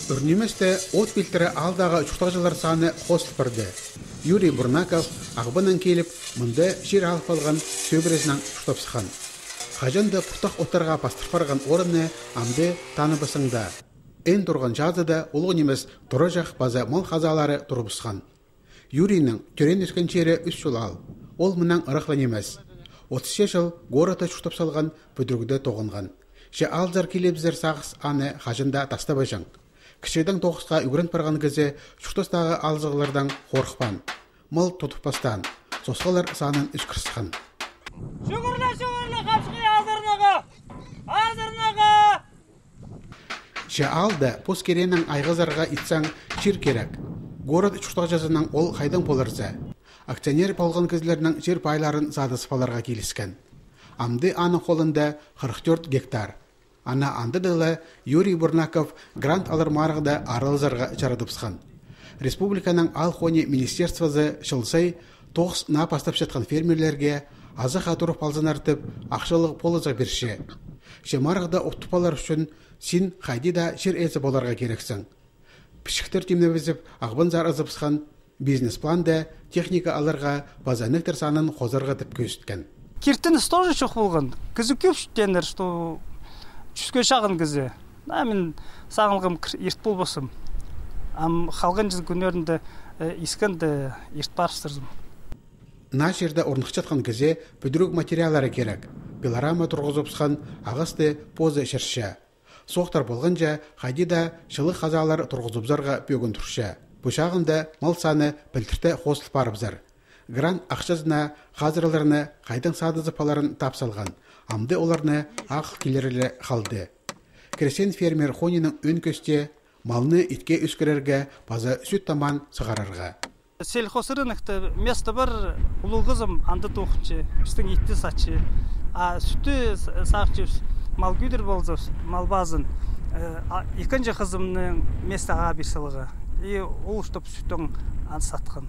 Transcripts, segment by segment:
Үрнеместе от билтері алдағы чуқтағжылар саны қосылып бірді. Юрий Бурнаков ағбынан келіп, мұнда жер алып алған сөбіресінен чуқтапсыған. Қажанды пұқтақ оттарға пастырпарған орынны амды таныбысыңда. Эн тұрған жазыда ұлғы немес тұры жақ база мол қазалары тұрыбысқан. Юрийнің түрен өскен жері үш жыл ал. Ол мұнан ырықлан емес. 30 жыл гората чуқтап салған бүдіргіде тоғынған. Же алзар келебіздер сағыз аны қажында тастабайжан. Кішеден тоғысқа үгірін барған кезе чуқтастағы алзығылардан қорқпан. Мол тұтыппастан. Сосқалар санын үшкірсіған. Шүгірлі қапшықи азырнаға! Же алды пос керенің айғызарға итсаң жер керек. Город чуқтақ жазынан ол қайдан болырза. Акционер болған кезлерінің жер байларын задысыпаларға келіскен. Амды аны қолында 44 гектар. Ана андыдылы Юрий Бурнаков грант алыр марғыда арылзарға жарадыпсқан. Республиканың Алхони министерствозы шылсай 9 на пастап жатқан фермерлерге азық атырып алзын артып, ақшылық полыза берші. Ше марғыда оқтыпалар үшін сен қайдида жер әзі боларға керексің. Пішіктер темне бізіп, ағбын зар азыпсқан бизнес-планда техника алырға базанықтыр санын қозарға тіп көсткен. Киртініз тоже шоқ болған. Кізі көп шүттендер, что жүзге шағын кізі. Мен сағылғым ерт бол басым. Қалған жүз күнерінде искенді ерт барыстырдым. На жерді орнық жатқан кізе бүдірік материалары керек. Пилорама тұрғызыпсқан ағысты позы шыршы. Соқтар болғанша қайдида шылы қазалар тұрғызыпзарға бөгін тұршы. Бұшағында мал саны білтірті қосылып барыбзар. Грант ақшазына қазырларыны қайдан садызыпаларын тапсалған. Амды оларны ақ келерілі қалды. Кресен фермер Хонинің өн көсте малны итке өскерерге база сүт таман сығарарға. Сельхоз рынокта место бар ұлығызым анды тоқынчы, үстің итті сатчы. Сүтті сақчы мал күйдір болзы, мал базын. Екінші қызымның местаға берсіліға. Ол ұштып сүттің ан сатқан.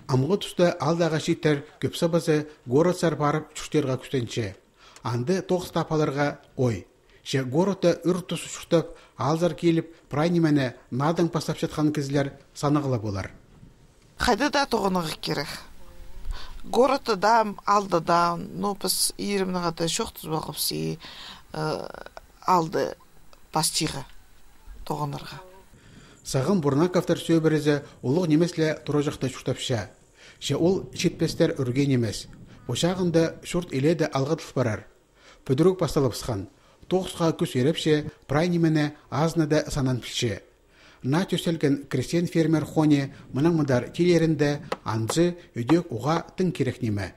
Амғы тұста алдағы шеттер көпсі базы город-сар барып чүштерға күстенші. Анды тоғыз тапаларға ой. Же городта үр тұсы шүштіп, алзар келіп, прайнемене надың пастап жатқан кізлер санығылы болар. Қайды да тоғынығы керек. Городта да, алды да, но біз иірімніға да шоқтыз бағыпсы алды пастиға тоғынырға. Сағын Бурнаковтар сөйбірізі ұлық немесле тұры жақта шүштапша. Же ол шетпестер үрген емес. Бұшағында шұрт еледі алғытылып барар. Бүдірік басталыпсқан. Тоғысқа күс ерепше, прайнемене азнада санан пілші. На төселген крестен фермер Хоне мұның мұдар телерінде анзы өдек уға тың керек неме.